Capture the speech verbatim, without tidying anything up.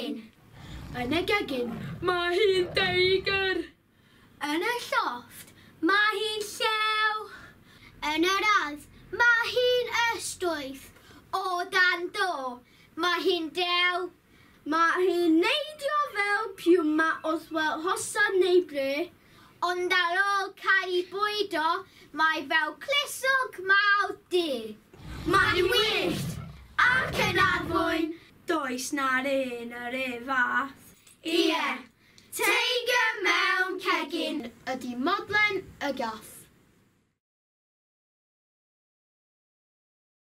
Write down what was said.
gegin. Yn y gegin, mae hi'n deigr. Yn y llofft, mae hi'n llew. Yn yr ardd, mae hi'n ystwyth. O dan do, mae hi'n dew. Mae hi'n neidio fel piwma os wel hosan neu bre. Ond ar ôl cael ei bwydo, mae fel clusog mawr du. Mae hi'n wyllt ac yn addfwyn. Does na'r un yr un fath. Ie, teigr mewn cegin ydy Modlen y Gath.